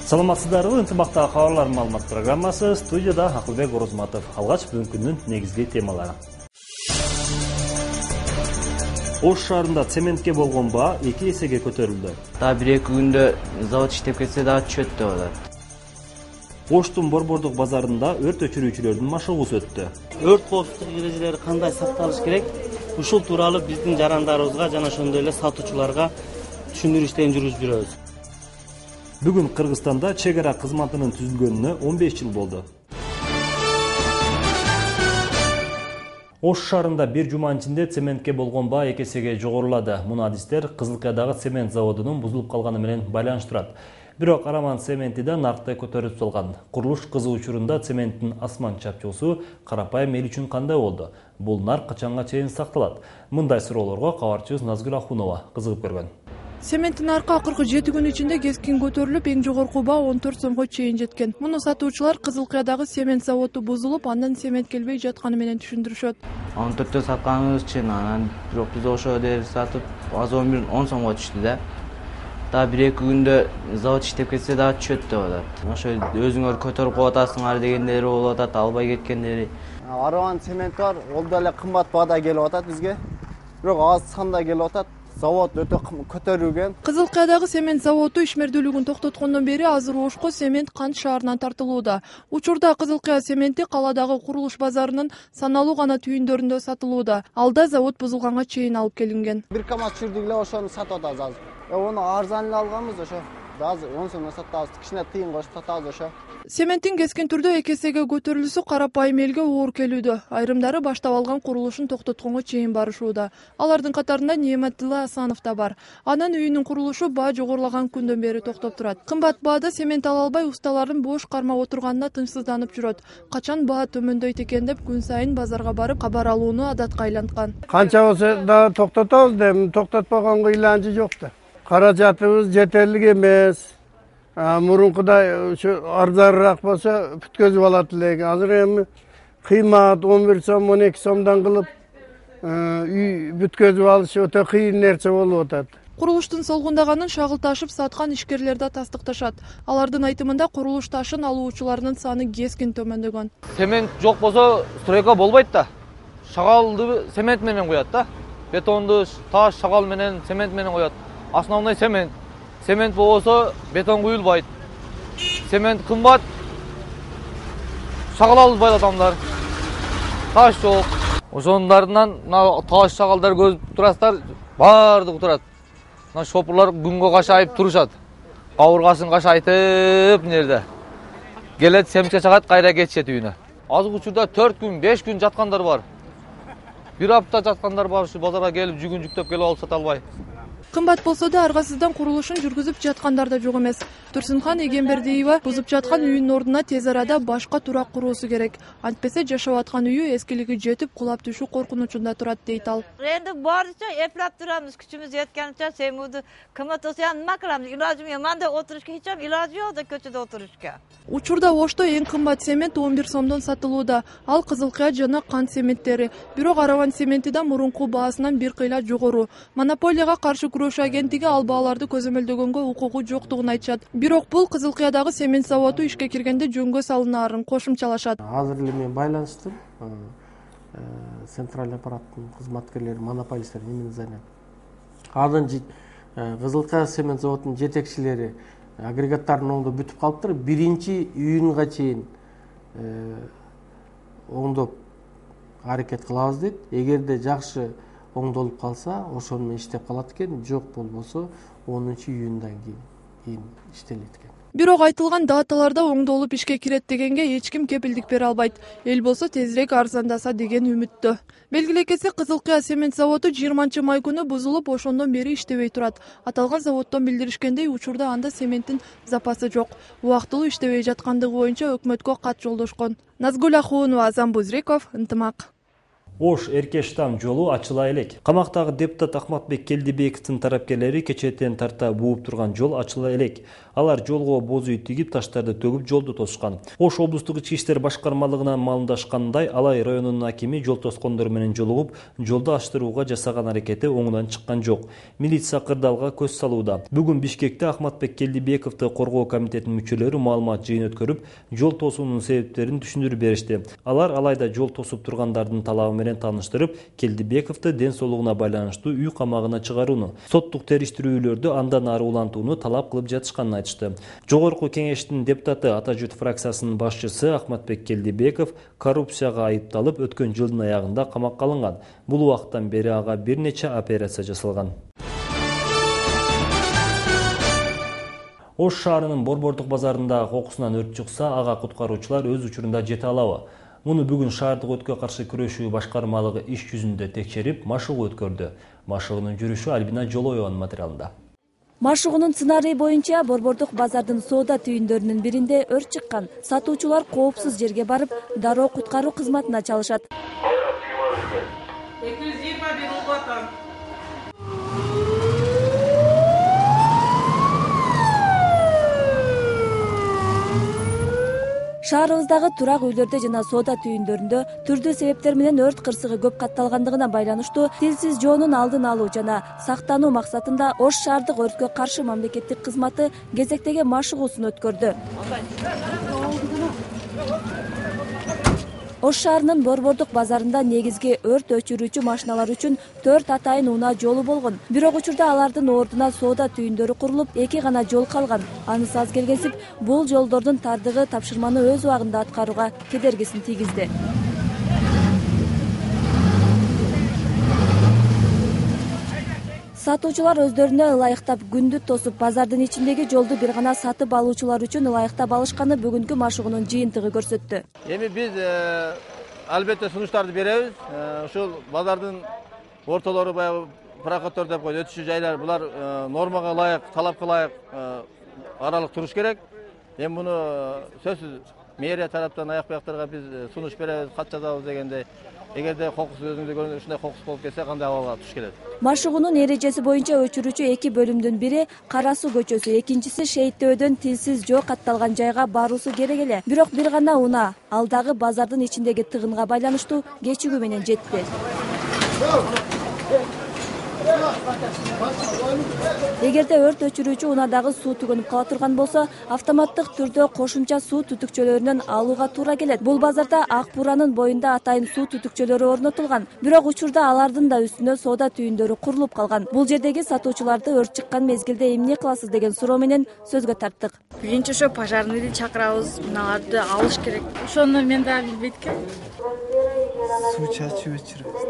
Саламатсыздарбы, ынтымактагы кабарлар маалымат программасы, студияда Акылбек Орозматов. Алгач бүгүнкү күндүн негизги темалары. Ош шаарында цементке болгон баа 2 эсеге көтөрүлдү. Дагы 1-2 күндө завод иштеп кетсе дагы түшөт деп атат. Оштун Борбордук базарында өрт өчүрүүчүлөрдүн машыгуусу өттү. Өрт коопсуздук эрежелери кандай сакталыш керек? Ушул тууралуу биздин жарандарыбызга жана ошондой эле сатуучуларга түшүндүрүү иштерин жүргүзүп жүрөбүз. Бүгүн Кыргызстанда чек ара кызматынын түзүлгөнүнө 15 жыл болду. Ош шаарында бир жуманын ичинде цементке болгон баа 2 эсеге жогорулады. Муну адистер Кызылкаядагы цемент заводунун бузулуп калганы менен байланыштырат. Бирок Араман цементи да наркты көтөрүп салган. Курулуш кызуу учурунда цементтин асман чапчуусу карапайым эл үчүн кандай болду? Бул нарк качанга чейин сакталат? Мындай суроолорго кабарчыбыз Назгүл Ахунова кызыгып көргөн. Цементтин наркы акыркы 7 күн ичинде кескин көтөрүлүп, эң жогорку баа 14 сомго чейин жеткен. Муну сатуучулар Кызылкаядагы цемент заводу бузулуп, андан цемент келбей жатканы менен түшүндүрүшөт. 14-тө сатканыбыз чын, анан бирок биз ошо деп сатып, азыр 10 сомго түштү да. Дагы 1-2 күндө завод иштеп кетсе дагы түшөт деп атат. Ошо өзүңөр көтөрүп коюп атасыңар дегендери болуп атат, албай кеткендери. Араман цемент бар, ол деле кымбат баада келип атат бизге. Бирок аз санда келип атат. Завод өтө көтөрүлгөн. Кызылкаядагы цемент заводу ишмердүүлүгүн токтоткондон бери азыр Ошко цемент Кант шаарынан тартылууда. Учурда Кызылкая цементи калаадагы курулуш базарынын саналуу гана түйүндөрүндө сатылууда. Алда завод бузулганга чейин алып келинген. Бир камат чүрдүк эле ошону сатып атабыз азыр. Ону арзан эле алганбыз ошо. Азыр 10 сомдон сатабыз, кичине тыйын кошуп сатабыз ошо. Цементтин кескин түрдө 2 эсеге көтөрүлүшү карапайым элге оор келүүдө. Айрымдары баштап алган курулушун токтотконго чейин барышууда. Алардын катарында Неметилла Асанов да бар. Анын үйүнүн курулушу баа жогорулаган күндөн бери токтоп турат. Кымбат баада цемент ала албай усталардын бош кармап отурганына тынчсызданып жүрөт. Качан баа төмөндөйт экен деп күн сайын базарга барып кабар алууну адатка айланткан. Канча болсо да токтотобуз деп, токтотпогонго иланчы жок да. Каражатыбыз жетерлик эмес. Мурункудай ушу арзаныраак болсо бүткөзүп алат элек. Азыр эми кыймат 11 сом, 12 сомдон кылып үй бүткөзүп алыш өтө кыйын нерсе болуп атат. Курулуштун солгундаганын шагылташып саткан ишкерлер да тастыкташат. Алардын айтымында курулуш ташын алуучулардын саны кескин төмөндөгөн. Цемент жок болсо стройка болбойт да. Шагалды цемент менен коёт да. Бетонду таш, шагал менен, цемент менен коёт. Основной цемент. Цемент болбосо бетон куюлбайт. Цемент кымбат. Шагал албайт адамдар. Таш жок. Ошондордун таш шагалдар көрүп турасыздар, баардыгы турат. Мына шопурлар күнгө кашайып турушат. Кабыргасын кашайтып нерде. Келет семче чагат, кайра кетишет үйүнө. Азыр учурда 4 күн, 5 күн жаткандар бар. Бир апта жаткандар бар, ушу базарга келип жүгүн жүктөп келип алып сата албай. Кымбат болсо да аргасыздан курулушун жүргүзүп жаткандар да жок эмес. Турсунхан Эгембердиева бузуп жаткан үйүнүн ордуна тез арада башка турак куруусу керек. Антпесе жашап аткан үйү эскилиги жетип кулап түшүү коркунучунда турат дейт ал. Энди баарыча эплеп турамыз, күчүбүз жеткенче семуду кыматысы нема кыламыз? Илажым жок, мында отурушка эч илажы жок да көчөдө отурушка. Учурда Ошто эң кымбат цемент 11 сомдон сатылууда. Ал Кызылкая жана Кант цементтери. Бирок Араман цементи да мурунку баасынан бир кыйла жогору. Монополияга каршы күрөшүү агенттиги ал бааларды көзөмөлдөгөнгө укугу жоктугун айтышат. Бирок бул Кызылкаядагы цемент заводу ишке киргенде жөнгө салынаарын кошумчалашат. Азыр эле мен байланыштым. Центральный аппараттын кызматкерлери, монополисттер эмне занят. Азыр Кызылкая цемент заводунун жетекчилери агрегаттардын оңдоп бүтүп калыптыр. 1-июнга чейин оңдоп аракет кылабыз дейт. Эгерде жакшы оңдолуп калса, ошону менен иштеп калат экен. Жок болбосо 10-июндан кийин иштелет экен. Бирок айтылган даталарда оңдолуп ишке кирет дегенге эч ким кепилдик бере албайт. Эл болсо тезирээк арзандаса деген үмүттө. Белгилей кетсек, Кызылкая цемент заводу 20-май күнү бузулуп, ошондон бери иштебей турат. Аталган заводдон билдиришкендей, учурда анда цементтин запасы жок. Убактылуу иштебей жаткандыгы боюнча өкмөткө кат жолдошкон. Назгүл Ахунова, Азам Бузреков, Ынтымак. Ош Эркештам жолу ачыла элек. Камактагы депутат Ахматбек Келдибековдун тарапкерлери кечээттен тарта бууп турган жол ачыла элек. Алар жолго боз үй тигип, таштарды төгүп жолду тосушкан. Ош облустук ички иштер башкармалыгынан маалымдашкандай, Алай районунун акими жол тоскондор менен жолугуп, жолду ачтырууга жасаган аракети оңунан чыккан жок. Милиция кырдаалга көз салууда. Бүгүн Бишкекте Ахматбек Келдибековду коргоо комитетинин мүчөлөрү маалымат жыйын өткөрүп, жол тосуунун себептерин түшүндүрүп беришти. Алар Алайда жол тосуп тургандардын талабы менен тааныштырып, Келдибековду ден соолугуна байланыштуу үй камагына чыгарууну, соттук териштирүүлөрдү андан ары улантууну талап кылып жатышканын айтышты. Жогорку кеңештин депутаты Ата Жут фракциясынын башчысы Ахматбек Келдибеков коррупцияга айыпталып, өткөн жылдын аягында камакка алынган. Бул убакыттан бери ага бир нече операция жасалган. Ош шаарынын Борбордук базарында кокусунан өрт чыкса, ага куткаруучулар өз учурунда жете алабы? Муну бүгүн шаардык өрткө каршы күрөшүү башкармалыгы иш жүзүндө текшерип, машыгуу өткөрдү. Машыгуунун жүрүшү Альбина Жолоеванын материалында. Машыгуунун сценарийи боюнча Борбордук базардын соода түйүндөрүнүн биринде өрт чыккан. Сатуучулар коопсуз жерге барып, дароо куткаруу кызматына чалышат. 221 улгатам. Шаарыбыздагы турак үйлөрдө жана соода түйүндөрүндө түрдүү себептер менен өрт кырсыгы көп катталгандыгына байланыштуу тилсиз жоонун алдын алуу жана сактануу максатында Ош шаардык өрткө каршы мамлекеттик кызматы кезектеги машыгуусун өткөрдү. Ош шаарынын Борбордук базарында негизги өрт өчүрүүчү машиналар үчүн 4 атайын унаа жолу болгон. Бирок учурда алардын ордуна соода түйүндөрү курулуп, 2 гана жол калган. Анысы аз келгенсип, бул жолдордун тардыгы тапшырманы өз убагында аткарууга кедергисин тийгизди. Сатуучулар өздөрүнө ылайыктап күндү тосуп, базардын ичиндеги жолду бир гана сатып алуучулар үчүн ылайыктап алышканы бүгүнкү машыгуунун жыйынтыгы көрсөттү. Эми биз албетте сунуштарды беребиз. Ушул базардын ортолору баягы проходтор деп койду, өтүшүү жайлар, булар нормага ылайык, талапка ылайык аралык туруш керек. Эми муну сөзсүз мэрия тараптан аяк бияктарга биз сунуш беребиз, кат жазабыз дегендей. Эгерде кокус өзүңдө көрүнүп ушундай кокус болуп кетсе, кандай абалга туш келет? Машыгуунун эрежеси боюнча өчүрүүчү 2 бөлүмдүн бири Кара Суу көчөсү, экинчиси Шейиттөөдөн тилсиз жоо катталган жайга баруусу керек эле. Бирок бир гана унаа ал дагы базардын ичиндеги тыгынга байланыштуу кечигүү менен жетти. Эгерде өрт өчүрүүчү унаадагы суу түгөнүп кала турган болсо, автоматтык түрдө кошумча суу түтүкчөлөрүнөн алууга туура келет. Бул базарда Ак Буранын боюнда атайын суу түтүкчөлөрү орнотулган. Бирок учурда алардын да үстүнө соода түйүндөрү курулуп калган. Бул жердеги сатуучуларды өрт чыккан мезгилде эмне кыласыз деген суроо менен сөзгө тарттык. Биринчи ошо пожарныйды чакырабыз, мыналарды алыш керек. Ошону мен дагы билбейт экенмин. Суу чачып өчүрөбүз.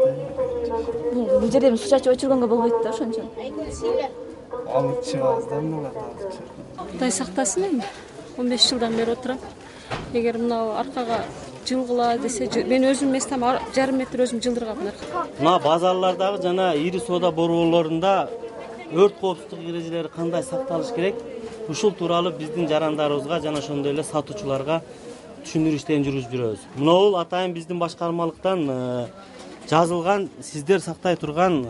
Бул жерде суу чачып өчүргөнгө болбойт да ошон үчүн. Алып чыгабыз да мыналарды алып чыгабыз. Кудай сактасын эми. 15 жылдан бери отурам. Эгер мынау аркага жылгыла десе, мен өзүм местем жарым метр өзүм жылдыргам аркага. Мына базарлардагы жана ири соода борборлорунда өрт коопсуздук эрежелери кандай сакталыш керек? Ушул тууралуу биздин жарандарыбызга жана ошондой эле сатуучуларга түшүндүрүү иштерин жүргүзүп жүрөбүз. Мынабул атайын биздин башкармалыктан жазылган, сиздер сактай турган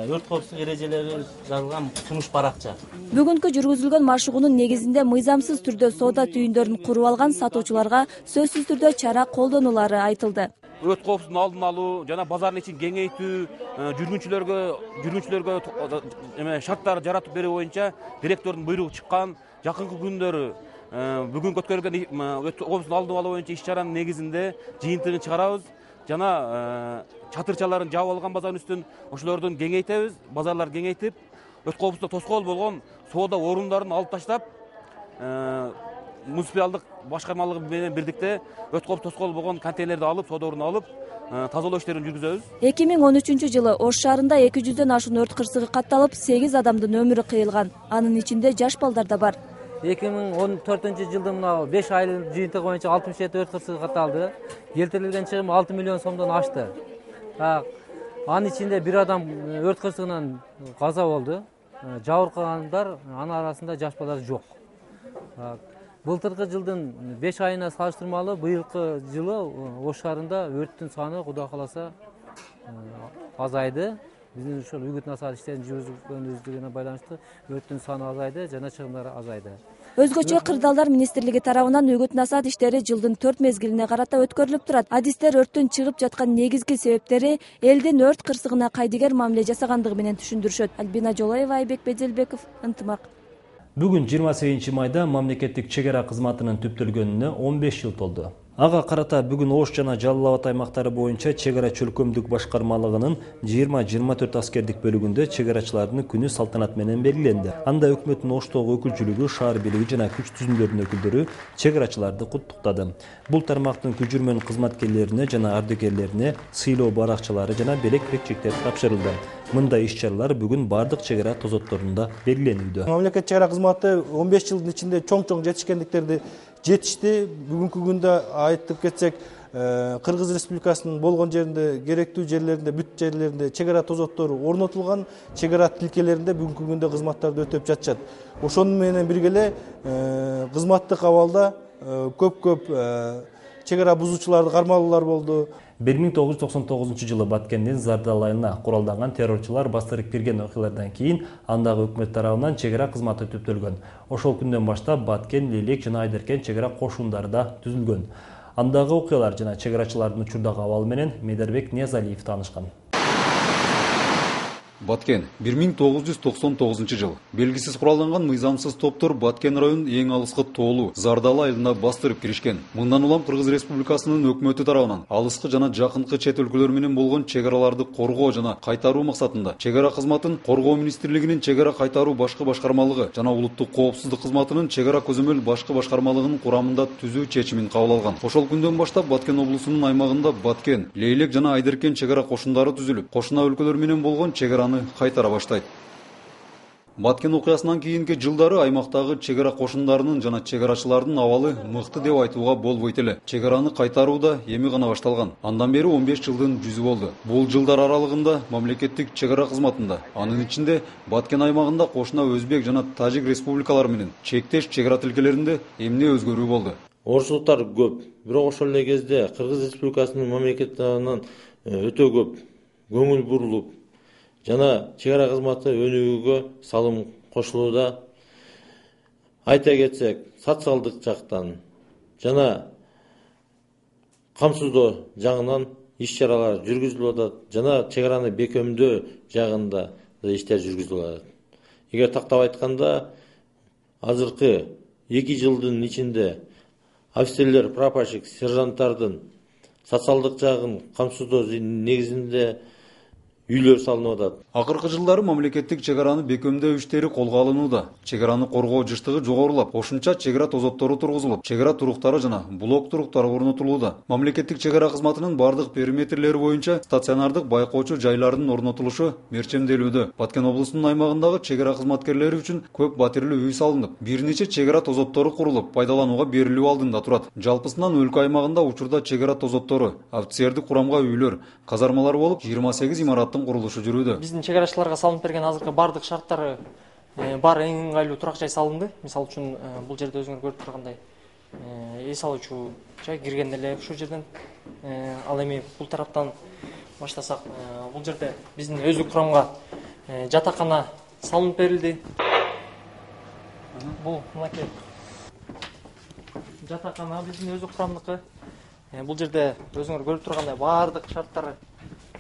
өрт коопсуздук эрежелери жазылган сунуш баракча. Бүгүнкү жүргүзүлгөн машыгуунун негизинде мыйзамсыз түрдө соода түйүндөрүн куруп алган сатуучуларга сөзсүз түрдө чара колдонулары айтылды. Өрт коопсуздугун алдын алуу жана базардын ичин кеңейтүү, жүргүнчүлөргө шарттар жаратып берүү боюнча директордун буйругу чыккан. Жакынкы күндөрү бүгүнкү өткөрүлгөн өрт коопсуздугун алдын алуу боюнча иш-чаранын негизинде жыйынтыгын чыгарабыз жана чатырчаларын жаап алган базардын үстүн ошолордун кеңейтебиз, базарлар кеңейтип, өрт коопсуздукка тоскоол болгон соода орундарын алып таштап, муниципалдык башкармалыгы менен бирдикте өрт коопсуздук тоскоол болгон контейнерди алып, соода ордун алып, тазалоо иштерин жүргүзөбүз. 2013 жылы Ош шаарында 200дөн ашуун өрт кырсыгы катталып, 8 адамдын өмүрү кыйылган. Анын ичинде жаш балдар да бар. 2014 жылдын 5 айдын жыйынтыгы боюнча 67 өрт кырсыгы катталды. Келтирилген чыгым 6 миллион сомдон ашты. Анын ичинде бир адам өрт кырсыгынан каза болду. Жабыркагандар, анын арасында жаш балдар жок. Былтыркы жылдын 5 айына салыштырмалуу быйылкы жылы Ош шаарында өрттүн саны Кудай кааласа азайды. Биздин ушул үгүт насаат иштерин жүргүзгөнүбүзгө байланыштуу өрттүн саны азайды жана чыгымдар азайды. Өзгөчө Кырдаалдар министрлиги тарабынан үгүт насаат иштери жылдын 4 мезгилине карата өткөрүлүп турат. Адистер өрттүн чыгып жаткан негизги себептери элдин өрт кырсыгына кайдыгер мамиле жасагандыгы менен түшүндүрүшөт. Альбина Жолаева, Айбек Беделбеков, Ынтымак. Бүгүн 28 майда мамлекеттик чек ара кызматынын түптөлгөнүнө 15 жыл толду. Ага карата бүгүн Ош жана Жалал Абад аймактары боюнча чек ара чөлкөмдүк башкармалыгынын 20-24 аскердик бөлүгүндө чек арачылардын күнү салтанат менен белгиленди. Анда өкмөттүн Оштогу өкүлчүлүгү, шаар бийлиги жана күч түзүмдөрүнүн өкүлдөрү чек арачыларды куттуктады. Бул тармактын күчүрмөн кызматкерлерине жана ардөгерлерине сыйлоо баракчалары жана белек бекчектер тапшырылды. Мындай иш-чаралар бүгүн бардык чек ара тозотторунда белгиленүүдө. Мамлекет чек ара кызматы 15 жылдын ичинде чоң жетишкендиктерди жетишти. Бүгүнкү күндө айтып кетсек, Кыргыз Республикасынын болгон жеринде, керектүү жерлеринде, бүт жерлеринде чек ара тозоттору орнотулган, чек ара тилкелеринде бүгүнкү күндө кызматтарды өтөп жатышат. Ошону менен бирге эле кызматтык абалда көп чек ара бузуучуларды кармалуулар болду. 1999 Баткендин Зардал айылына куралданган террорчулар бастырып кирген окуялардан кийин андагы өкмөт тарабынан чек ара кызматы түптөлгөн. Ошол күндөн баштап Баткен, Лелек жана Айдеркен чек ара кошундары да түзүлгөн. Андагы окуялар жана чек арачылардын учурдагы абалы менен Медербек Ниязалиев таанышкан. Баткен 1999 жыл. Белгисиз куралданган мыйзамсыз топтор Баткен районунун эң алыскы тоолу Зардал айылына бастырып киришкен. Мындан улам Кыргыз Республикасынын өкмөтү тарабынан алыскы жана жакынкы чет өлкөлөр менен болгон чек араларды коргоо жана кайтаруу максатында чек ара кызматын Коргоо министрлигинин чек ара кайтаруу башкы башкармалыгы жана улуттук коопсуздук кызматынын чек ара көзөмөл башкы башкармалыгынын курамында түзүү чечимин кабыл алган. Ошол күндөн баштап Баткен облусунун аймагында Баткен, Лейлек жана Айдеркен чек ара кошундары түзүлүп, кошуна өлкөлөр менен болгон чек араны кайтара баштайт. Баткен окуясынан кийинки жылдары аймактагы чек ара кошундарынын жана чек арачылардын абалы мыкты деп айтууга болбойт эле. Чек араны кайтаруу да эми гана башталган. Андан бери 15 жылдын жүзү болду. Бул жылдар аралыгында мамлекеттик чек ара кызматында, анын ичинде Баткен аймагында кошуна Өзбек жана Тажик республикалары менен чектеш чек ара тилкелеринде эмне өзгөрүү болду? Орчулуктар көп, бирок ошол эле кезде Кыргыз Республикасынын мамлекет тарабынан өтө көп көңүл бурулуп, жана чек ара кызматы өнүгүүгө салым кошулууда. Айта кетсек, социалдык жактан жана камсыздоо жагынан иш-чаралар жүргүзүлүп атат, жана чек араны бекемдөө жагында да иштер жүргүзүлүп атат. Эгер тактап айтканда, азыркы 2 жылдын ичинде офицерлер, прапорщик, сержанттардын социалдык жагын камсыздоо негизинде үйлөр салынып атат. Акыркы жылдары мамлекеттик чек араны бекемдөө иштери колго алынууда. Чек араны коргоо жыштыгы жогорулап, кошумча чек ара тозоттору тургузулуп, чек ара туруктары жана блок туруктары орнотулууда. Мамлекеттик чек ара кызматынын бардык периметрлери боюнча стационардык байкоочу жайлардын орнотулушу мерчемделүүдө. Баткен облусунун аймагындагы чек ара кызматкерлери үчүн көп батирлүү үй салынып, бир нече чек ара тозоттору курулуп, пайдаланууга берилүү алдында турат. Жалпысынан өлкө аймагында учурда чек ара тозоттору, офицердик курамга үйлөр, казармалар болуп 28 имараттын курулушу жүрүүдө. Биздин чек арачыларга салынып берген азыркы бардык шарттары бар эң ыңгайлуу турак жай салынды. Мисалы үчүн бул жерде өзүңөр көрүп тургандай эс алуучу жай киргенде эле ушул жерден. Ал эми бул тараптан баштасак, бул жерде биздин өздүк курамга жатакана салынып берилди. Бул мынакей жатакана биздин өздүк курамдыкы. Бул жерде өзүңөр көрүп тургандай бардык шарттары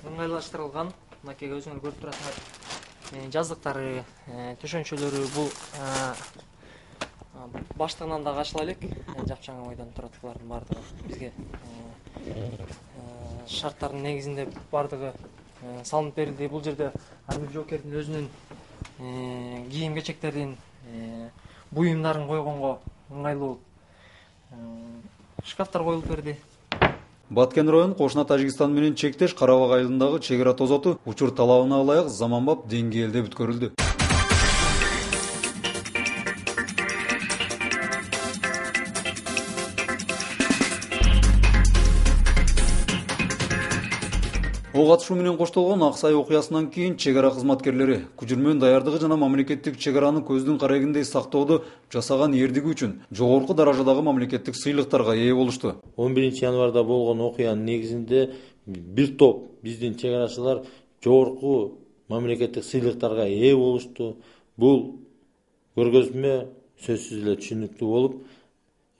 ыңгайлаштырылган. Мынакей өзүңөр көрүп турасыңар. Жаздыктары, төшөнчөлөрү бул баштыгынан дагы ачыла элек. Жапчаңы ойдон турат булардын бардыгы. Бизге шарттардын негизинде бардыгы салынып берилди. Бул жерде Амир Жокердин өзүнүн кийим кечектерин, буюмдарын койгонго ыңгайлуу шкафтар коюлуп берди. Баткен район кошуна Тажикстан менен чектеш Карабак айылындагы чек ара тозоту учур талабына ылайык заманбап деңгээлде бүткөрүлдү. Ого атышуу менен коштолгон Аксай окуясынан кийин чек ара кызматкерлери күчүрмөн даярдыгы жана мамлекеттик чек араны көздүн карегиндей сактоодо жасаган эрдиги үчүн жогорку даражадагы мамлекеттик сыйлыктарга ээ болушту. 11 январда болгон окуянын негизинде бир топ биздин чек арачылар жогорку мамлекеттик сыйлыктарга ээ болушту. Бул көргөзмө сөзсүз эле түшүнүктүү болуп,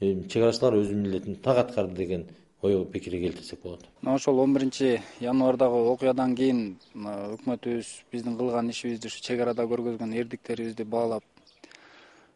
чек арачылар өз милдетин так аткарды деген ой пикирге келтирсек болот. Ошол 11 январдагы окуядан кийин өкмөтүбүз биздин кылган ишибизди ушу чек арада көргөзгөн эрдиктерибизди баалап,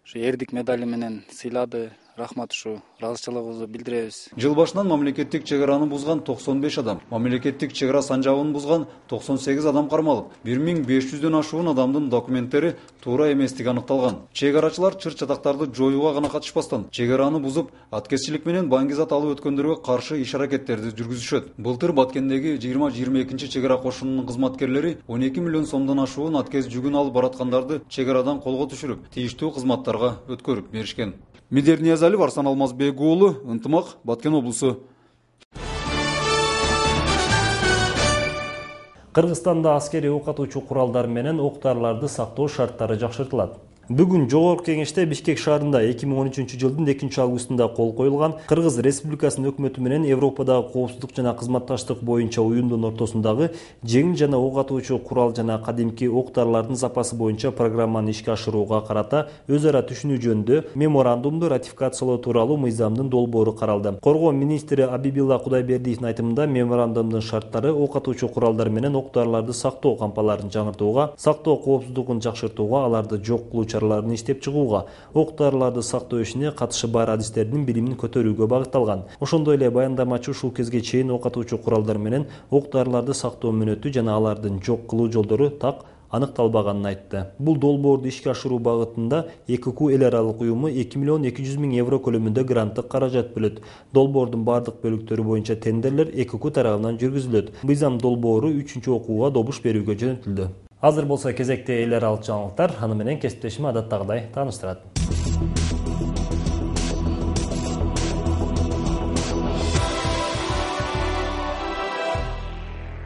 ушу эрдик медали менен сыйлады. Рахмат, ушу ыраазычылыгыбызды билдиребиз. Жыл башынан мамлекеттик чек араны бузган 95 адам, мамлекеттик чек ара санжабын бузган 98 адам кармалып, 1500дөн ашуун адамдын документтери туура эместиги аныкталган. Чек арачылар чыр-чатактарды жоюуга гана катышпастан, чек араны бузуп, аткезчилик менен баңгизат алып өткөндөргө каршы иш-аракеттерди жүргүзүшөт. Былтыр Баткендеги 20-22 чек ара кошунунун кызматкерлери 12 миллион сомдон ашуун аткез жүгүн алып бараткандарды чек арадан колго түшүрүп, тийиштүү кызматтарга өткөрүп беришкен. Медер Ниязалиев, Арсан Алмазбек уулу, Ынтымак, Баткен облусу. Кыргызстанда аскери ок атуучу куралдар менен октарларды сактоо шарттары жакшыртылат. Бүгүн Жогорку Кеңеште Бишкек шаарында 2013 жылдын 2-августунда кол коюлган Кыргыз Республикасынын өкмөтү менен Европадагы коопсуздук жана кызматташтык боюнча уюмдун ортосундагы жеңил жана ок атуучу курал жана кадимки октарлардын запасы боюнча программаны ишке ашырууга карата өз ара түшүнүү жөнүндө меморандумду ратификациялоо тууралуу мыйзамдын долбоору каралды. Коргоо министри Абибилла Кудайбердиевдин айтымында меморандумдун шарттары ок атуучу куралдар менен октарларды сактоо кампаларын жаңыртууга, сактоо коопсуздугун жакшыртууга, аларды жок кылуу чараларын иштеп чыгууга, октарларды сактоо ишине катышы бар адистердин билимин көтөрүүгө багытталган. Ошондой эле баяндамачы ушул кезге чейин ок атуучу куралдар менен октарларды сактоо мөөнөтү жана алардын жок кылуу жолдору так аныкталбаганын айтты. Бул долбоорду ишке ашыруу багытында ЭКК эл аралык уюму 2 миллион 200 миң евро көлөмүндө гранттык каражат бөлөт. Долбоордун бардык бөлүктөрү боюнча тендерлер ЭКК тарабынан жүргүзүлөт. Мыйзам долбоору 3-чү окууга добуш берүүгө жөнөтүлдү. Азыр болсо кезекте эл аралык жаңылыктар, аны менен кесиптешим адаттагыдай тааныштырат.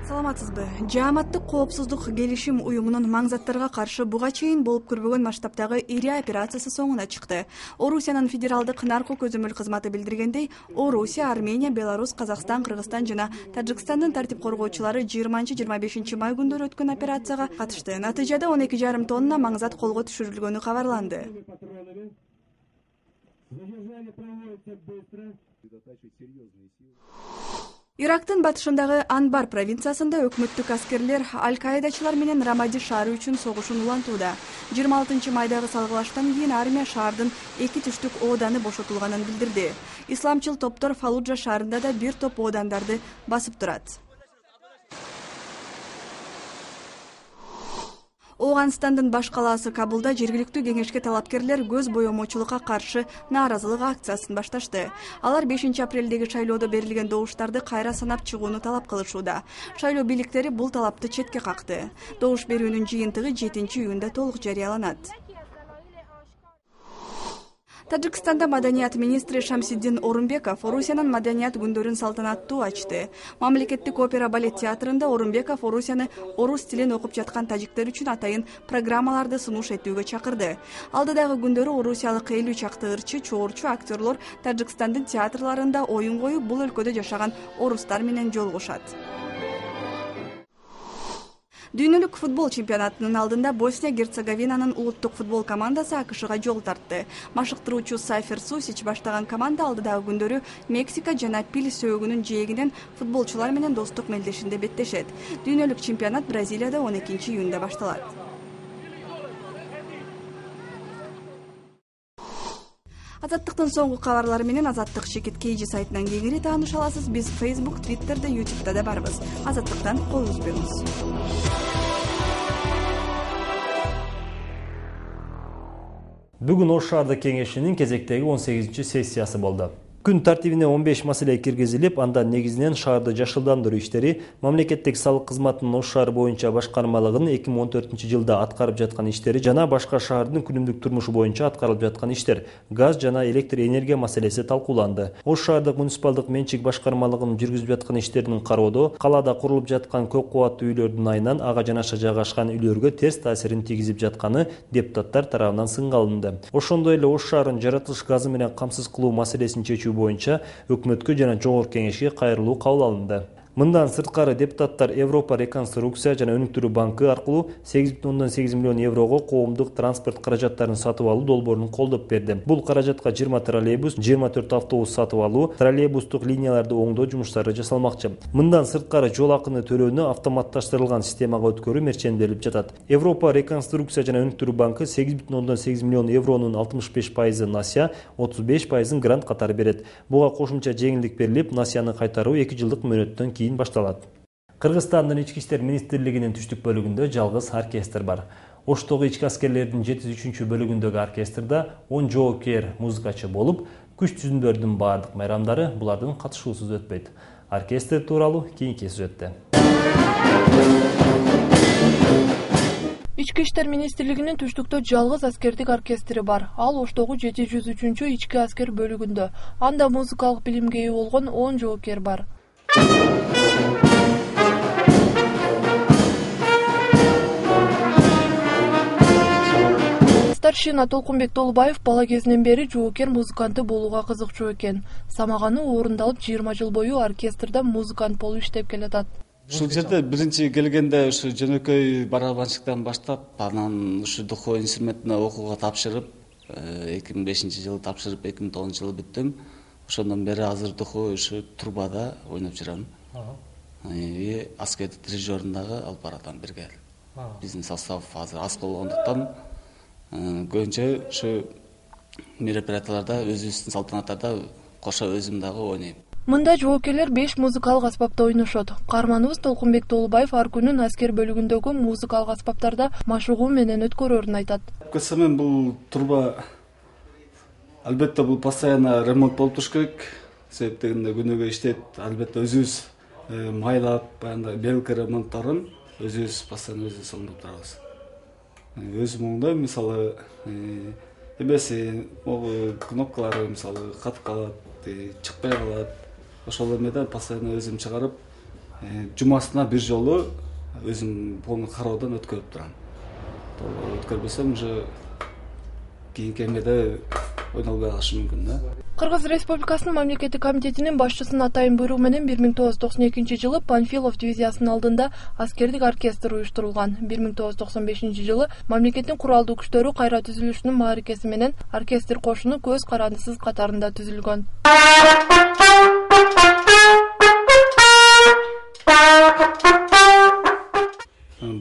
Саламатсызбы? Жааматтык коопсуздук келишим уюмунун маңзаттарга каршы буга чейин болуп көрбөгөн масштабтагы ири операциясы соңуна чыкты. Орусиянын федералдык наркы көзөмөл кызматы билдиргендей, Орусия, Армения, Беларусь, Казакстан, Кыргызстан жана Тажикстандын тартип коргоочулары 20-25 май күндөрү өткөн операцияга катышты. Натыйжада 12,5 тонна маңзат колго түшүрүлгөнү кабарланды. Ирактын батышындагы Анбар провинциясында өкмөттүк аскерлер Аль-Каидачылар менен Рамади шаары үчүн согушун улантууда. 26 майдагы салгылаштан кийин армия шаардын 2 түштүк ооданы бошотулганын билдирди. Исламчыл топтор Фалуджа шаарында да бир топ оодандарды басып турат. Ооганстандын баш калаасы Кабулда жергиликтүү кеңешке талапкерлер көз боемочулукка каршы нааразылык акциясын башташты. Алар 5 апрелдеги шайлоодо берилген добуштарды кайра санап чыгууну талап кылышууда. Шайлоо бийликтери бул талапты четке какты. Добуш берүүнүн жыйынтыгы 7-июнда толук жарыяланат. Тажикстанда маданият министри Шамсиддин Орунбеков Орусиянын маданият күндөрүн салтанаттуу ачты. Мамлекеттик опера балет театрында Орунбеков Орусияны орус тилин окуп жаткан тажиктер үчүн атайын программаларды сунуш этүүгө чакырды. Алдыдагы күндөрү орусиялык 50 чакты ырчы, чоорчу актерлор Тажикстандын театрларында оюн коюп, бул өлкөдө жашаган орустар менен жолугушат. Дүйнөлүк футбол чемпионатынын алдында Босния-Герцеговинанын улуттук футбол командасы АКШга жол тартты. Машыктыруучу Сайфер Сусич баштаган команда алдыдагы күндөрү Мексика жана Пил сөөгүнүн жээгинен футболчулар менен достук мелдешинде беттешет. Дүйнөлүк чемпионат Бразилияда 12-июнда башталат. Азаттыктын соңку кабарлары менен Азаттык Шекет KG сайтынан кеңири тааныша аласыз. Биз Facebook, Twitter'да, YouTube'да да барбыз. Азаттыктан кол үзбөңүз. Бүгүн Ош шаардык кеңешинин кезектеги 18-сессиясы болду. Күн тартибине 15 маселе киргизилип, анда негизинен шаарды жашылдандыруу иштери, мамлекеттик салык кызматынын Ош шаары боюнча башкармалыгынын 2014-жылда аткарып жаткан иштери жана башка шаардын күнүмдүк турмушу боюнча аткарылып жаткан иштер, газ жана электр энергия маселеси талкууланды. Ош шаардык муниципалдык менчик башкармалыгынын жүргүзүп жаткан иштеринин кароодо калаада курулуп жаткан көп кубаттуу үйлөрдүн айынан ага жанаша жайгашкан үйлөргө терс таасирин тийгизип жатканы депутаттар тарабынан сынга алынды. Ошондой эле Ош шаарын жаратылыш газы менен камсыз кылуу маселесин чечүү боюнча өкмөткө жана Жогорку Кеңешке кайрылуу кабыл алынды. Мындан сырткары депутаттар Европа реконструкция жана өнүктүрүү банкы аркылуу 8,8 миллион еврого коомдук транспорт каражаттарын сатып алуу долбоорун колдоп берди. Бул каражатка 20 троллейбус, 24 автобус сатып алуу, троллейбустук линияларды оңдоо жумуштары жасалмакчы. Мындан сырткары жол акыны төлөөнү автоматташтырылган системага өткөрүү мерченделип жатат. Европа реконструкция жана өнүктүрүү банкы 8,8 миллион евронун 65% насия, 35% грант катары берет. Буга кошумча жеңилдик берилип, насияны кайтаруу 2 жылдык мөөнөттөн кийин башталат. Кыргызстандын ички иштер министрлигинин түштүк бөлүгүндө жалгыз оркестр бар. Оштогу ички аскерлердин 73 бөлүгүндөгү оркестрда 10 жоопкер музыкачы болуп, күч түзүмдөрдүн баардык майрамдары булардын катышуусуз өтпөйт. Оркестр тууралуу кийинки сюжетте. Ички иштер министрлигинин түштүктө жалгыз аскердик оркестри бар. Ал Оштогу 703 ички аскер бөлүгүндө. Анда музыкалык билимге ээ болгон 10 жоопкер бар. Старшина Толкунбек Толубаев бала кезинен бери жоокер музыканты болууга кызыкчу экен. Самаганы орундалып 20 жыл бою оркестрда музыкант болуп иштеп келатат. Ушул жерде биринчи келгенде ушу жөнөкөй барабанщиктан баштап, анан ушу духовой инструментине окууга тапшырып, 2005-жылы тапшырып, 2009-жылы бүттүм. Ошондон бери азыр духовой ушу трубада ойноп жүрөм. Аскердик дирижерин дагы алып баратам бирге. Биздин состав азыр аз болгондуктан көбүнчө ушу мероприятияларда, өзүбүздүн салтанаттарда кошо өзүм дагы ойнойм. Мында жоокерлер 5 музыкалык аспапта ойношот. Каарманыбыз Толкунбек Толубаев ар күнүн аскер бөлүгүндөгү музыкалык аспаптарда машыгуу менен өткөрөрүн айтат. Көрсөм бул труба албетте бул постоянно ремонт болуп туруш керек. Себеп дегенде күнүгө иштейт, албетте өзүбүз майлап, баягындай белка ремонтторун өзүбүз постоянно өзүбүз оңдоп турабыз. Өзүм оңдойм, мисалы эмеси, кнопкалары мисалы катып калат, чыкпай калат. Ошол эмеден постоянно өзүм чыгарып, жумасына бир жолу өзүм полный кароодон өткөрүп турам. Өткөрбөсөм уже кийинки эмеде ойнолбой калышы мүмкүн да. Кыргыз Республикасынын мамлекеттик комитетинин башчысынын атайын буйругу менен 1992 Панфилов дивизиясынын алдында аскердик оркестр уюштурулган. 1995 жылы мамлекеттин куралдуу күчтөрү кайра түзүлүшүнүн мааракеси менен оркестр кошуну көз карандысыз катарында түзүлгөн.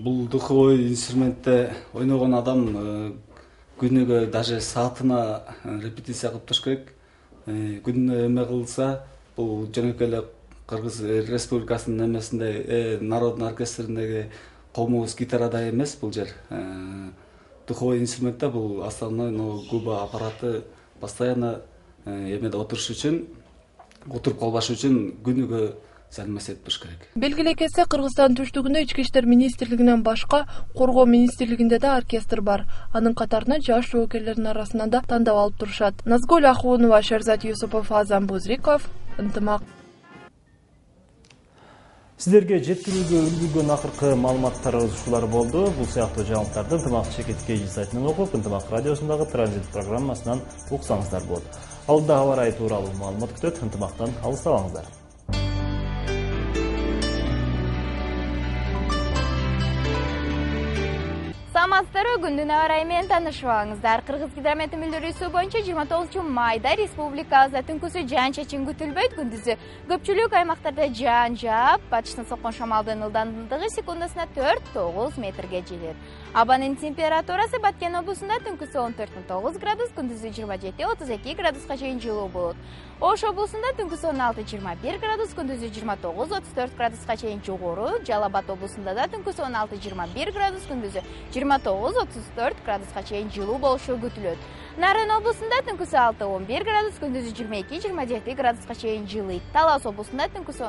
Бул духовой инструментте ойногон адам күнүгө даже саатына репетиция кылып туруш керек. Күнүнө эме кылса, бул жөнөкөй эле Кыргыз Республикасынын эмесинде, народный оркестриндеги комуз гитарада эмес бул жер. Духовой инструментте бул основной губа аппараты постоянно эмеде отуруш үчүн, отуруп калбаш үчүн күнүгө зармас этип туруш керек. Белгилей кетсе, Кыргызстан түштүгүндө ички иштер министрлигинен башка коргоо министрлигинде да оркестр бар. Анын катарына жаш жоокерлердин арасынан да тандап алып турушат. Назгүл Ахунова, Шерзат Юсупов, Азан Бузриков, Ынтымак. Сиздерге жеткирүүгө үлгүргөн акыркы маалыматтарыбыз ушулар болду. Бул сыяктуу жаңылыктарды Ынтымак ЧКТ сайтынан окуп, Ынтымак радиосундагы транзит программасынан уксаңыздар болот. Алдыда аба ырайы тууралуу маалымат күтөт. Ынтымактан алыстабаңыздар. Саламатсыздарбы, күндүн аба ырайы менен таанышыбаңыздар. Кыргыз гидромет мүлдөрүүсү боюнча 29 майда республикабызда түнкүсү жаан-чачын күтүлбөйт. Күндүзү көпчүлүк аймактарда жаан жаап, батыштан соккон шамалдын ылдамдыгы секундасына 4-9 метрге жетет. Абанын температурасы Баткен облусунда түнкүсү 14-9 градус, күндүзү 27-32 градуска чейин жылуу болот. Ош облусунда түнкүсү 16-21 градус, күндүзү 29-34 градуска чейин жогору. Жалал Абад облусунда да түнкүсү 16-21 градус, күндүзү 29-34 градуска чейин жылуу болушу күтүлөт. Нарын облусунда түнкүсү 6-11 градус, күндүзү 22-27 градуска чейин жылыйт. Талас облусунда түнкүсү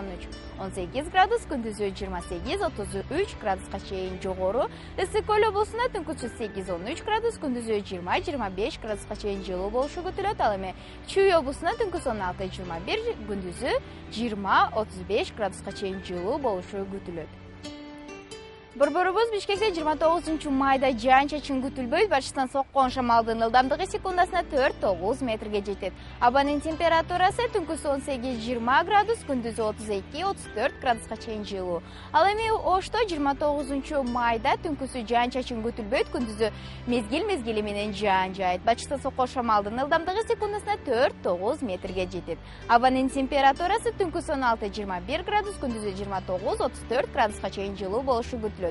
13-18 градус, күндүзү 28-33 градуска чейин жогору. Ысык көл облусунда түнкүсү 8-13 градус, күндүзү 20-25 градуска чейин жылуу болушу күтүлөт. Ал эми Чүй облусунда түнкүсү 16-21, күндүзү 20-35 градуска чейин жылуу болушу күтүлөт. Борборубуз Бишкекте 29 майда жаан-чачын күтүлбөйт, башынан соккон шамалдын ылдамдыгы секундасына 4-9 метрге жетет. Абанын температурасы түнкүсү 18-20 градус, күндүзү 32-34 градуска чейин жылуу. Ал эми Ошто 29 майда түнкүсү жаан-чачын күтүлбөйт, күндүзү мезгил менен жаан жаайт. Башынан соккон шамалдын ылдамдыгы секундасына 4-9 метрге жетет. Абанын температурасы түнкүсү 16-21 градус, күндүзү 29-34 градуска чейин жылуу болушу күтүлөт.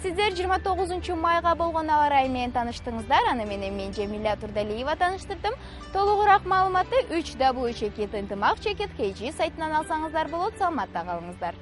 Сиздер 29 майга болгон аба ырайы менен тааныштыңыздар. Аны менен мен Жемила Турдалиева тааныштырдым. Толугураак маалыматты 3W чекит ынтымак чекит KG сайтынан алсаңыздар болот. Саламатта калыңыздар.